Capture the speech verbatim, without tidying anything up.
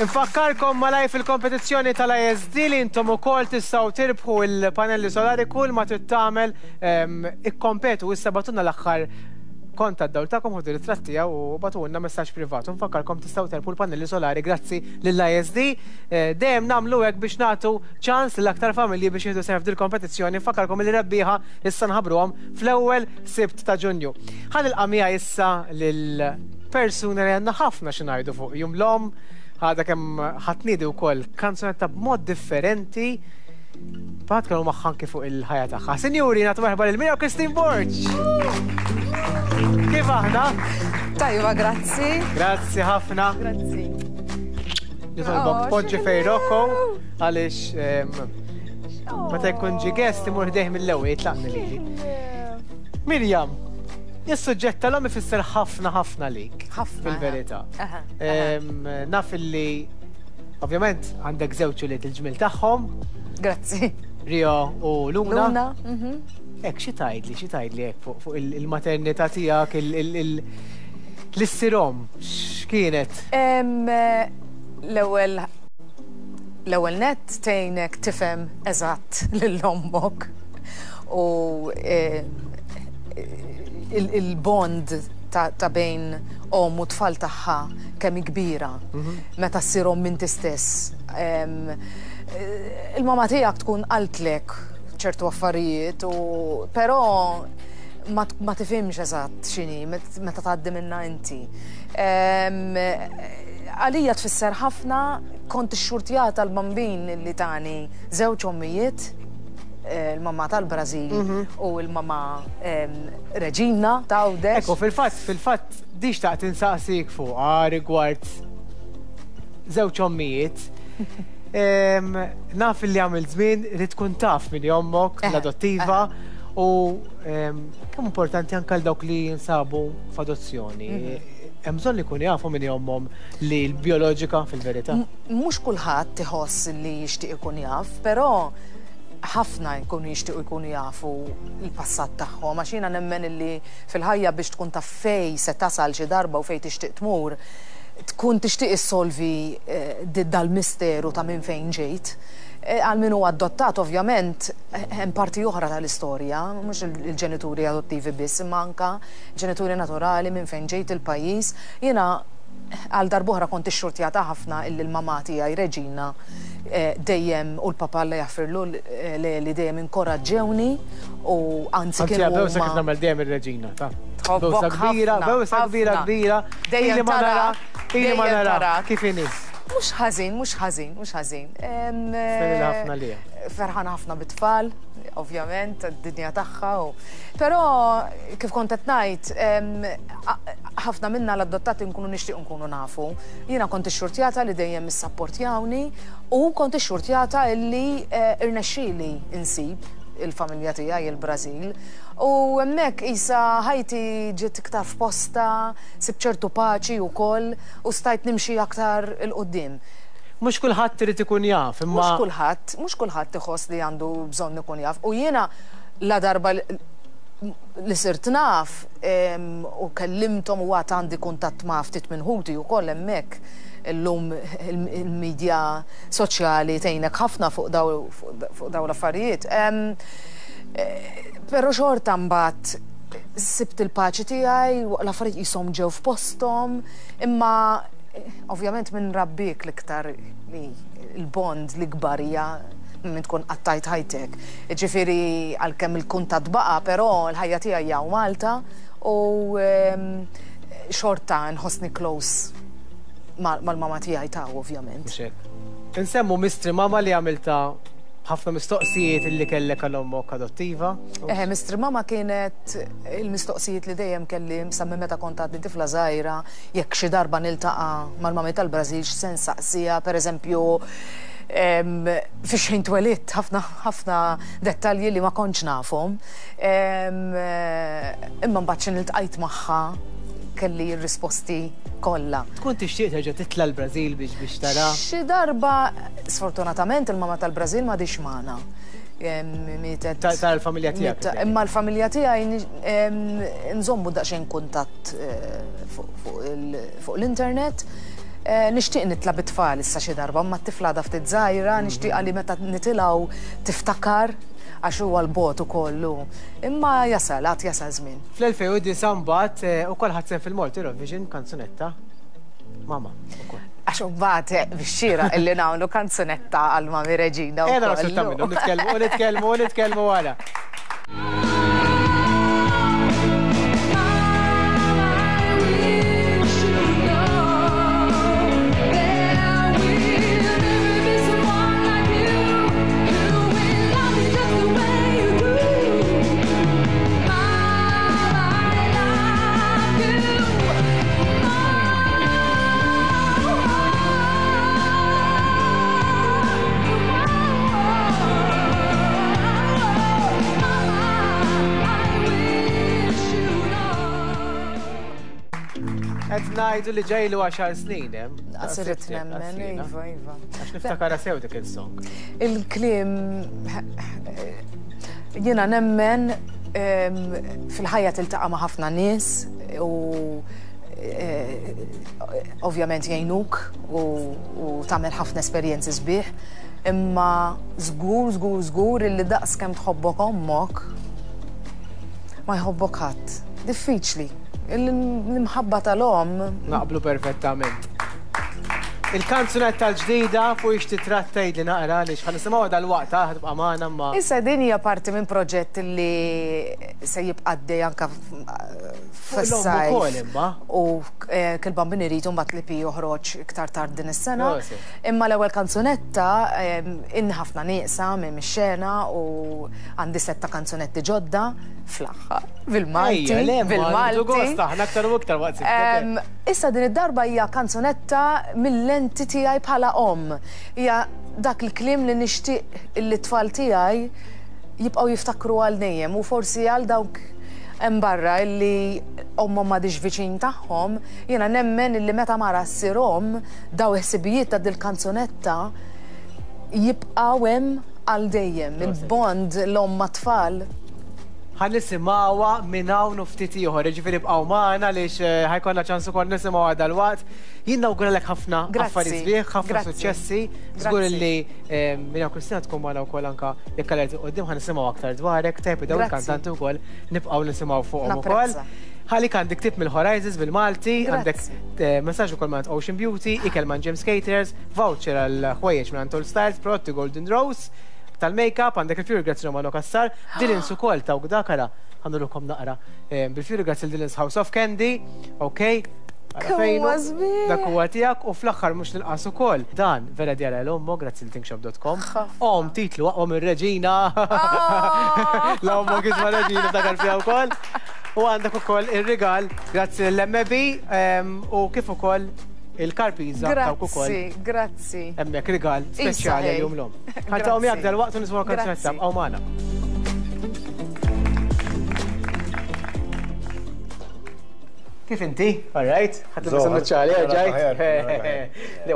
Infakkarkom malajr fil-kompetizzjoni tal-I S D li intom ukoll tistgħu tirbħu il-panelli solari. Kull ma trid tagħmel, ikkompetu issa, ibagħtulna l-aħħar kont tad-dawl tagħkom, ħudu ritratt tiegħu u ibagħtulna messaġġ privat. Nfakkarkom, tistgħu tirbħu l-panelli solari grazzi lill-I S D. Eh, dejjem nagħmlu hekk biex nagħtu ċans lil aktar familji biex jieħdu sehem f'dil kompetizzjoni. Nfakkarkom li rebbieħa issa nħabbruhom fl-ewwel Sibt ta' Ġunju. Ħa nilqa' miegħi issa lil persuna li għandna ħafna xi ngħidu fuq Jum l-Omm, għadha kemm ħa tniedi wkoll kanzunetta b'mod differenti. Bat kienu magħha anki fuq il-ħajja tagħha. Sinjuri, nagħtu merħba lil Miriam Christine Borg. Kif aħna? Tajba, grazzi. Grazzi ħafna. Grazzi. Nitolbok Oh, tpoġġi fejn Rocco għaliex em, meta jkun ġi guest imur ħdejh mill-ewwel, jitlaqni lili. Miriam, is-suġġett tal-omm ifisser ħafna ħafna lik. Ħafna. Fil-verità. Aha, Em, Naf illi ovvjament għandek żewġ ulied il-ġmil tagħhom, Grazzi. Rio u Luna. Luna. mhm. Ek, xi tgħidli, xi tgħidli hekk fuq fuq il- il-maternità tiegħek, il- il- il- l-issir omm, x'kienet? Em, eh, L-ewwel l-ewwel net tgħinek tifhem eżatt lil ommok u eh, il- il-bond ta' ta' bejn om u tfal tagħha kemm hi kbira meta ssir omm inti stess. Em, eh, Il-mama tiegħek tkun qaltlek ċertu affarijiet u però ma, ma tifhimx eżatt x'inhi met- meta tgħaddi minna inti. Em, Għalija tfisser ħafna, kont ixxurtjata l-bambin li tani żewġ ommijiet, eh, il-mamma tal-Brażil u l-mamma em, Reġina ta' Għawdex. Ekku, fil-fatt, fil-fatt, di xtaqt insaqsik fuq rigward żewġ ommijiet. Em, Naf li għamil żmien li tkun taf min ommok, Eħe, l-adottiva, u em, kemm importanti anke għal dawk li jinsabu f'adozzjoni. Hemm bżonn li jkunu jafu min ommhom li l-bioloġika fil-verità. Mhux kulħadd iħoss li jixtieq ikun jaf, però ħafna jkunu jixtiequ jkunu jafu l-passat tagħhom, għax jiena nemmen illi fil-ħajja biex tkun taf fejn se tasal xi darba u fejn tixtieq tmur, tkun tixtieq issolvi eh, di- dal-misteru ta' minn fejn ġejt. Eh, Għal min huwa adottat, ovvjament, eh, hemm parti oħra tal-istorja, mhux il-ġenituri adottivi biss, imma anka ġenituri naturali, minn fejn ġejt, il-pajjiż. Jiena għal darb'oħra kont ixxurtjata ħafna illi l-mama tiegħi Reġina eh, dejjem u l-papa, Alla jaħfirlu, eh, li li dejjem inkoraġġewni u anzi Anzi, kienu bewsa kif huma nagħmel dejjem ir-reġina, ta' Tħobbok Bewsa kbira, ħafna, bewsa kbira ħafna. kbira. Dejjem Ili ma nara, tarak, ili ma dejjem nara. tarak. Kif inhi? Mhux ħażin, mhux ħażin, mhux ħażin. Em, Stenni ħafna lija. Ferħana ħafna bit-tfal, ovvjament, id-dinja tagħha. u- Però kif kont qed ngħid, em, a- ħafna minna l-adottati nkunu nixtieq nkunu nafu. Jiena kont ixxurtjata li dejjem issapportjawni u kont ixxurtjata illi eh, irnexxieli insib il-familja tiegħi il-Brażil. U hemmhekk isa ħajti ġiet iktar f'posta, sibt ċertu paċi wkoll u stajt nimxi aktar 'il quddiem. Mhux kulħadd irid ikun jaf, imma Mhux kulħadd, mhux kulħadd iħoss li għandu bżonn ikun jaf. U jiena la darba li li sirt naf em, u kellimthom u għad għandi kuntatt ma' ftit minn ħuti u koll hemmhekk, illum il-medja soċjali tgħinek ħafna fuq daw fuq daw l-affarijiet. Em, eh, Però xorta mbagħad sibt il-paċi tiegħi, l-affarijiet jisom ġew f'posthom, imma eh, ovvjament minn rabbik l-iktar li il-bond li kbar hija minn tkun qattajt ħajtek. Ġifieri għalkemm il-kuntatt baqa', però l-ħajja tiegħi hija Malta u em, xorta nħossni close mal-mama tiegħi ta' ovvjament. Mhux hekk. Insemmu Mystery Mama li għamilta ħafna mistoqsijiet illi kellek għal ommok adottiva. Eħe, Mystery Mama kienet il-mistoqsijiet li dejjem kelli sa minn meta kont għadni tifla żgħira, jekk xi darba niltaqa' mal-mami tal-Brażil x'se nsaqsiha, pereżempju, em, fi xejn twelidt, ħafna ħafna dettalji li ma kontx nafhom. Em, eh, Imma mbagħad xi niltqajt magħha kelli r-risposti kollha. Tkun tixtieq terġa' titla' l-Brażil biex biex tara. Xi darba, sfortunatament, il-mama tal-Brażil m'għadhiex magħna. Em, Mietet. Ta- tal-familja tiegħek, Miet- Imma l-familja tiegħi ni- em, nżommu daqsxejn kuntatt eh, fuq fuq il- fuq l-internet. Nixtieq nitla' bit-tfal issa xi darba, ma t-tifla għadha ftit żgħira, nixtieq li meta nitilgħu tiftakar għax huwa l-bot ukoll. Imma jasal, għad jasal żmien. Fl-elfejn u disa' mbagħad ukoll ħadt sehem fil-Malta Eurovision kanzunetta Mama ukoll. Għax mbagħad bix-xira illi nagħmlu kanzunetta għal Mami Reġina wkoll. Nitkellmu, nitkellmu, nitkellmu wara. Qed ngħidu li ġejlu għaxar snin hemm. Qasirt nemmen, iva, iva. Għax niftakara sew dik il-song. Il-kliem jiena nemmen fil-ħajja tiltaqa' ma' ħafna nies u ovvjament jgħinuk u tagħmel ħafna esperjenzi sbieħ, imma żgur, żgur, żgur illi daqs kemm tħobbok ommok ma jħobbok ħadd. Diffiċli. L-imħabba tal-om. Naqblu perfettament. Il-kanzunetta l-ġdida fuq ix titratta li naqra għaliex ħa nisimgħuha dal-waqt ħa tibqa' magħna ma. Issa din hija parti minn proġett li se jibqa' għaddej anke fis-sajf. U Kull Bambin Irid mbagħad li pi joħroġ iktar tard din is-sena. Imma l-ewwel kanzunetta inni ħafna nieqsa minn mix-xena u għandi setta kanzunetti ġodda fl-aħħar bil-Malti. Bil-Malti. Aħna aktar u iktar waqt. Issa din id-darba hija kanzunetta mill-lenti tiegħi bħala omm. Hija dak il-kliem li nixtieq li t-tfal tiegħi jibqgħu jiftakru għal dejjem u forsi għal dawk hemm barra illi ommhom m'għadix viċin tagħhom, jiena nemmen illi meta mara ssir omm daw il-ħsibijiet ta' dil-kanzunetta jibqgħu hemm għal dejjem. Il-bond l-omm mat-tfal. Ħa nisimgħuha minn hawn u ftit ieħor, jiġifieri bqgħu magħna għaliex ħa jkollna ċans ukoll nisimgħuha dalwaqt. Jien nawguralek ħafna affarijiet sbieħ, ħafna suċċessi. Żgur li Miriam Kristina tkun magħna wkoll anke jekk għal quddiem ħa nisimgħu aktar dwarek, tajb dawn il-kantanti wkoll nibqgħu nisimgħu fuqhom ukoll. Ħalik għandek tip mill-Horizons bil-Malti, għandek messaġġ ukoll minn Ocean Beauty, ikel minn James Caters, voucher għal ħwejjeġ minn All Styles, prodotti Golden Rose, tal-make-up, għandek il-Fury Grazzi Romano Kassar, Dylan's ukoll ta' dakara, għandurukom naqra. Bil-Fury Grazzi il-Dylan's House of Candy, ok? Dak huwa tiegħek u fl-aħħar mhux nilqas ukoll. Dan vera djara l-ommo, grazzi l-thinkshop dot com. Om titlu aqwa mir-reġina. L-ommo kisma reġina takar fiha wkoll. U għandek ukoll ir-rigal, grazzi l-M B u kif ukoll il-karpiza tawk ukoll. Grazzi, grazzi. Hemmhekk rigal speċjali għal-jum l-omm. Ħa miegħek dal-waqt u nisimgħu kanzunetta bqgħu magħna. Kif inti? All right? Ħadd tilbes in-nuċċali, ġajt?